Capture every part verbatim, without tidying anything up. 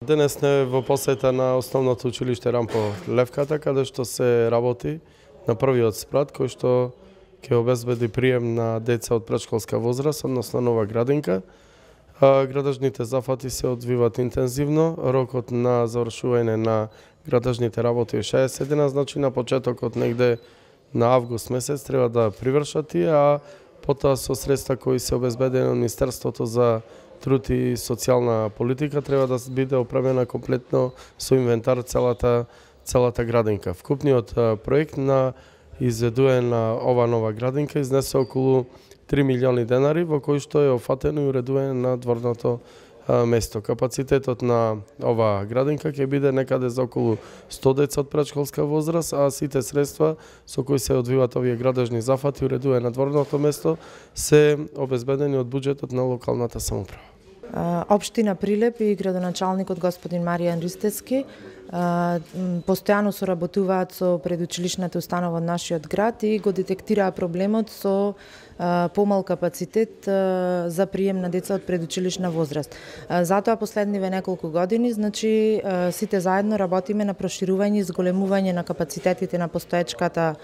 Денес сме во посета на основното училиште Рампо Левката, каде што се работи на првиот спрат кој што ќе обезбеди прием на деца од претшколска возраст, односно нова градинка. Градежните зафати се одвиваат интензивно. Рокот на завршување на градежните работи е шеесет дена, значи на почетокот негде на август месец треба да привршат тие, а потоа со средства кои се обезбедени од Министерството за труд и социјална политика треба да биде опремена комплетно со инвентар целата целата градинка. Вкупниот проект на изведување на ова нова градинка изнесе околу три милиони денари, во кој што е офатено и уредување на дворното место. Капацитетот на ова градинка ќе биде некаде за околу сто деца од претшколска возраст, а сите средства со кои се одвиваат овие градежни зафати и уредување на дворното место се обезбедени од буџетот на локалната самоуправа. Општина Прилеп и градоначалникот господин Маријан Ристевски постојано соработуваат со предучилишната установа од нашиот град и го детектираа проблемот со помал капацитет за прием на деца од предучилишна возраст. Затоа последниве неколку години, значи сите заедно работиме на проширување и зголемување на капацитетите на постоечката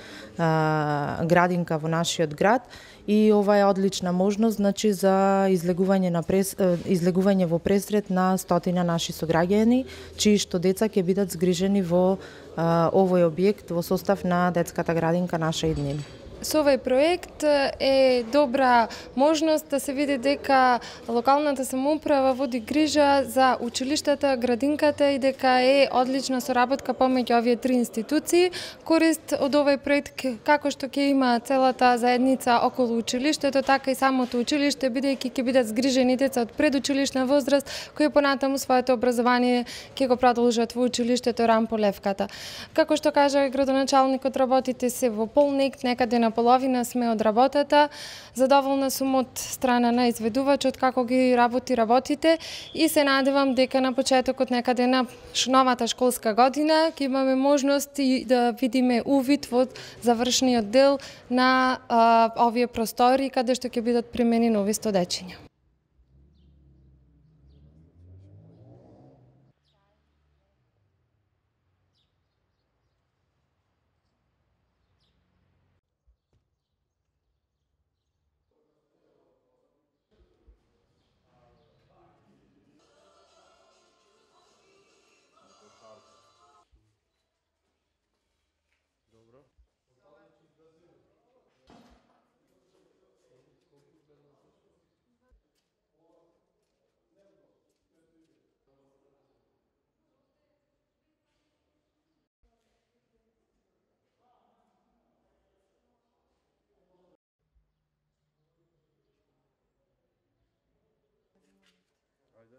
градинка во нашиот град и ова е одлична можност, значи за излегување на прес, излегување во пресрет на стотина наши сограѓани, чии што деца ќе бидат згрижени во овој објект во состав на детската градинка Наша иднина. Со овој проект е добра можност да се види дека локалната самоуправа води грижа за училиштата, градинката и дека е одлична соработка помеѓу овие три институции. Корист од овој проект како што ќе има целата заедница околу училиштето, така и самото училиште, бидејќи ќе бидат згрижени деца од предучилишна возраст кои понатаму своето образование ќе го продолжат во училиштето Рампо Левката. Како што кажа градоначалникот, работите се во полник, некаде на половина сме од работата. Задоволна сум од страна на изведувачот како ги работи работите и се надевам дека на почетокот некаде на новата школска година ќе имаме можност и да видиме увид во завршниот дел на а, овие простори каде што ќе бидат применени нови стодечиња.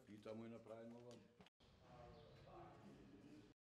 И таму е направено